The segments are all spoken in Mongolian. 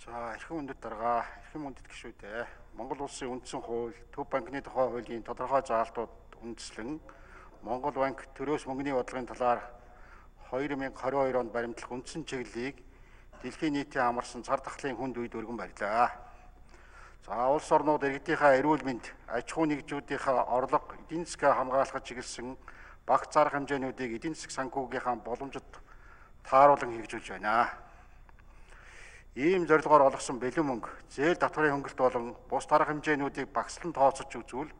За эрхэм үндэт дарга, эрхэм үндэт гишүүдээ Монгол улсын үндсэн хууль, Төв банкны тухай хуулийн тодорхой заалтууд үндэслэн Монгол банк төрөөс мөнгөний бодлогын талаар 2022 онд баримтлах үндсэн чиглэлийг дэлхийн нийтийн амарсан цар тахлын хүнд үед өргөн барьлаа. За улс орнууд иргэдийнхээ эрүүл мэнд, аж ахуй нэгжүүдийнхээ орлого, эдийн засгаа хамгаалахад чиглэсэн багц зарга хэмжээнүүдийг эдийн засаг санхүүгийнхаа боломжид тааруулан хэрэгжүүлж байна. Ийм зорилгоор олгосон бэлэн мөнгө, зээл татварын хөнгөлт болон бус дарга хэмжээнүүдийг багслан тооцож үзвэл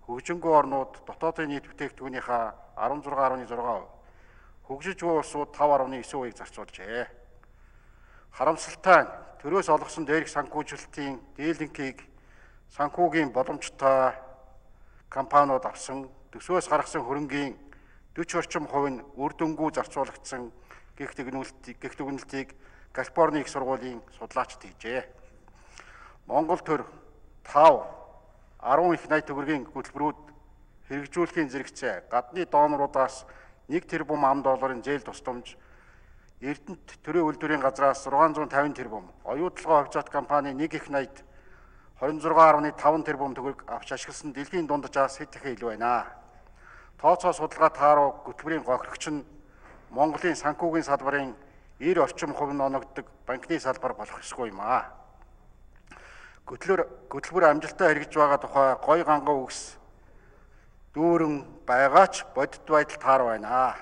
хөгжингүй орнууд дотоодын нийт бүтээгдэхүүнийхээ 16.6%, хөгжиж буй улсууд 5.9%-ийг зарцуулжээ. Харамсалтай нь төрөөс олгосон дээрх санхүүжилтийн дийлэнхийг санхүүгийн боломжтой компаниуд авсан, төсвөөс гаргасан хөрөнгийн 40 орчим хувь нь үр дүнгүй зарцуулагдсан гэх дүгнэлтийг Калифорни их сургуулийн судлаачид хийжээ. Монгол төр 5, 10 их найт төгрөгийн хөтөлбөрүүд хэрэгжүүлэхийн зэрэгцээ гадны доноруудаас 1 тэрбум $, зээл тусламж, Эрдэнэт төрийн үйлдвэрийн газраас 650 тэрбум, оюутлогоо хувьцаат компани 1 их найт 26.5 тэрбум төгрөг авч ашигласан дэлхийн дунджаас хэд дахин илүү байна. Тооцоо судалгаа тааруу хөтөлбөрийн гохирогч нь Монголын санхүүгийн салбарын 90 орчим хувь нь оногддог банкны салбар болох ёсгүй юм аа. Хөтөлбөр амжилттай хэрэгжиж байгаа тухай гой ганган үгс дүүрэн байгаа ч бодит байдал таар байна.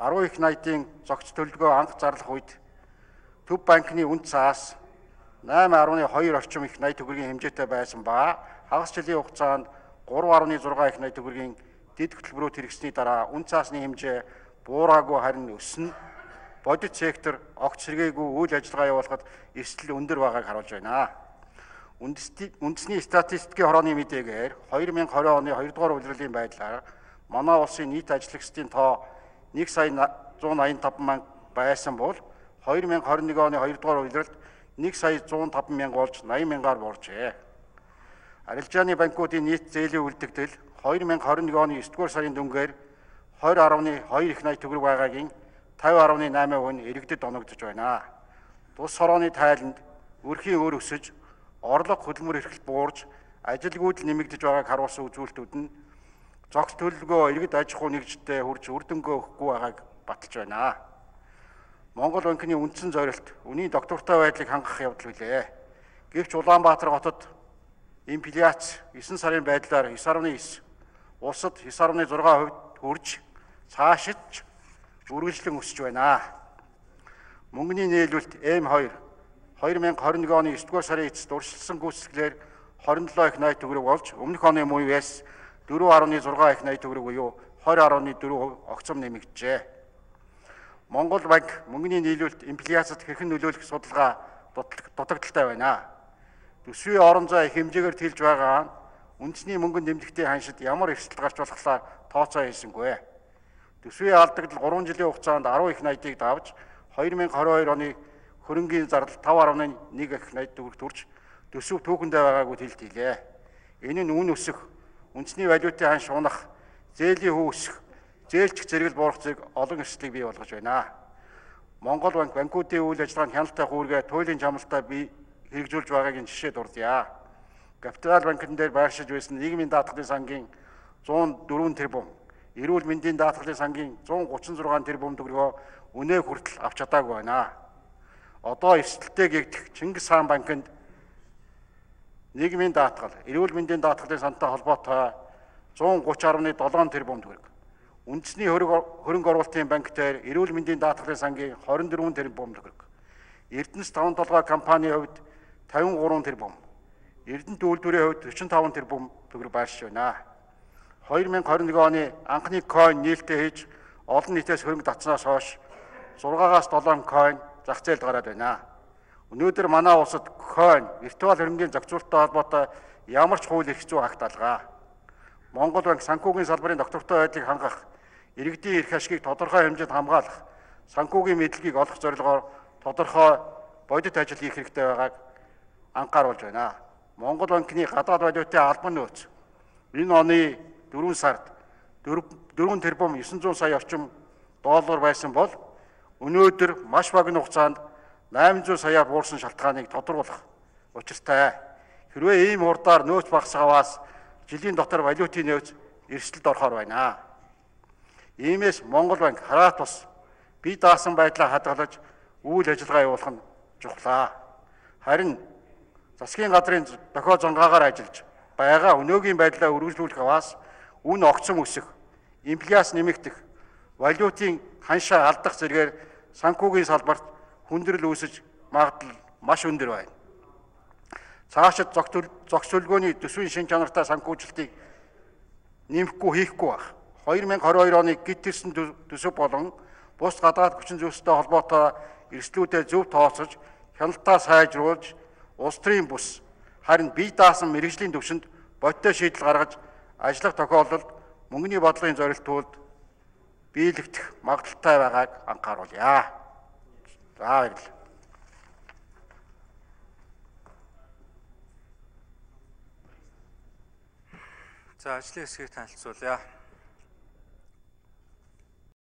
10 их найтын зогц төлөвлөгөө анх зарлах үед Төв банкны үнд цаас 8.2 орчим их найт төгрөгийн хэмжээтэй байсан ба хагас жилийн хугацаанд 3.6 их найт төгрөгийн дэд хөтөлбөрүүд хэрэгжсэний дараа үнд цаасны хэмжээ буураагүй харин өснө. Бодит сектор огт сэргээгүй үйл ажиллагаа явуулахад эрсдэл өндөр байгааг харуулж байна. Үндэсний статистикийн хорооны мэдээгээр 2020 оны 2 дугаар улирлын байдлаар манай улсын нийт ажиллагчдын тоо 1,185,000 байсан бол 2021 оны 2 дугаар улиралд 1,105,000 болж 80,000-аар бууржээ. Арилжааны банкуудын нийт зээлийн үлдэгдэл 2021 оны 9 дугаар сарын дүнгээр 20.2 их найт төгрөг байгаагийн 50.8% нь иргэдэд оногдож байна. Тус хорооны тайланд өрхийн өр өсөж, орлого хөдөлмөр эрхлэлт буурж, ажилгүйдэл нэмэгдэж байгааг харуулсан үзүүлэлтүүд нь зогц төлөвлөгөө иргэд аж ахуй нэгжтэй хүрч үр дүнгээ өгөхгүй байгааг баталж байна. Монгол банкны үндсэн зорилт үнийн доктортой байдлыг хангах явдал билээ. Гэвч Улаанбаатар хотод инфляц 9 сарын байдлаар 9.9, улсад 9.6% хүрж цаашид үргэлжлэн өсөж байна. Мөнгөний нийлүүлэлт М2 2021 оны 9 дугаар сарын эцэст урьдчилсан гүйцэтгэлээр 27 их найт төгрөг болж өмнөх оны мууяс 4.6 их найт төгрөг буюу 20.4% огцом нэмэгджээ. Монгол банк мөнгөний нийлүүлэлт инфляцид хэрхэн нөлөөлөх судалгаа дутагдaltaй байна. Төсвийн орон зай их хэмжээгээр тэлж байгаа нь үндэсний мөнгөнд нэмлэгтийн ханшид ямар эрсдэл гарч болохлаа тооцоо хийсэнгүй. Төсвийн алдагдал 3 жилийн хугацаанд 10 их найтыг давж 2022 оны хөрөнгийн зардал 5.1 их найт төгрөгт хүрч төсөв түүхэндээ байгаагүй хэлт хийлээ. Энэ нь үн өсөх, үндэсний валютын ханш унах, зээлийн хөв өсөх, зээлчих зэрэгэл буурах зэрэг олон эрсдлийг бий болгож байна. Монгол банк банкуудын үйл ажиллагаанд хяналттай хүүргээ туйлын чамлалтаа бий хэрэгжүүлж байгаагийн жишээ дурдъя. Капитал банкн дээр байршиж байсан нийгмийн даатгалын сангийн 104 тэрбум, эрүүл мэндийн даатгалын сангийн 136 тэрбум төгрөгөө үнэ хүртэл авч чадаагүй байна. Одоо эрсдэлтэй гэгдэх Чингис хаан банкнд нийгмийн даатгал, эрүүл мэндийн даатгалын сантай холбоотой 130.7 тэрбум төгрөг, үндэсний хөрөнгө оруулалтын банк дээр эрүүл мэндийн даатгалын сангийн 24 тэрбум төгрөг, Эрдэнэс 5 толгой компанийн хувьд 53 тэрбум, Эрдэнэт үйлдвэрийн хувьд 45 тэрбум төгрөг байршиж байна. 2021 оны анхны койн нээлттэй хийж олон нийтээс хөрөнгө татснаас хойш 6-аас 7 койн зах зээлд гараад байна. Өнөөдөр манай улсад койн, виртуал хөрөнгийн зохицуулалттай холбоотой ямар ч хууль эрх зүй агт алгаа. Монгол банк санхүүгийн салбарын доктортой байдлыг хангах, иргэдийн эрх ашгийг тодорхой хэмжээнд хамгаалах, санхүүгийн мэдлэгийг олох зорилгоор тодорхой бодит ажил хийх хэрэгтэй байгааг анхааруулж байна. Монгол банкны гадаад валютын албан нөөц энэ оны 4 сард 4 тэрбум 900 сая орчим доллар байсан бол өнөөдөр маш богино хугацаанд 800 саяар буурсан шалтгааныг тодорхойлох учиртай. Хэрвээ ийм урдаар нөөц багасгаваас жилийн дотор валютын нөөц эрсдэлд орохоор байна. Иймээс Монгол банк хараа тус бие даасан байдлаа хадгалж үйл ажиллагаа явуулах нь чухлаа. Харин засгийн газрын дохио зангаагаар ажиллаж байгаа өнөөгийн байдлаа үргэлжлүүлэх аваас үн огцом өсөх, инфляц нэмэгдэх, валютын ханшаа алдах зэргээр санхүүгийн салбарт хүндрэл үүсэж магадлал маш өндөр байна. Цаашид зохицуулгооны төсвийн шин чанартай санхүүжилтийг нэмэхгүй хийхгүй байх. 2022 оны гид тэрсэн төсөв болон бус гадаад хүчин зүйлстэй холбоотой эрсдлүүдэд зөв тооцож, хяналтаа сайжруулж, улс төрийн бус харин бие даасан мэргэжлийн түвшинд бодиттой шийдэл гаргаж ажиллах тохиолдолд мөнгөний бодлогын зорилтууд биелэгдэх магадaltaй байгааг анхааруулъя. За баярлалаа. За ажлын хэсгийг танилцуулъя.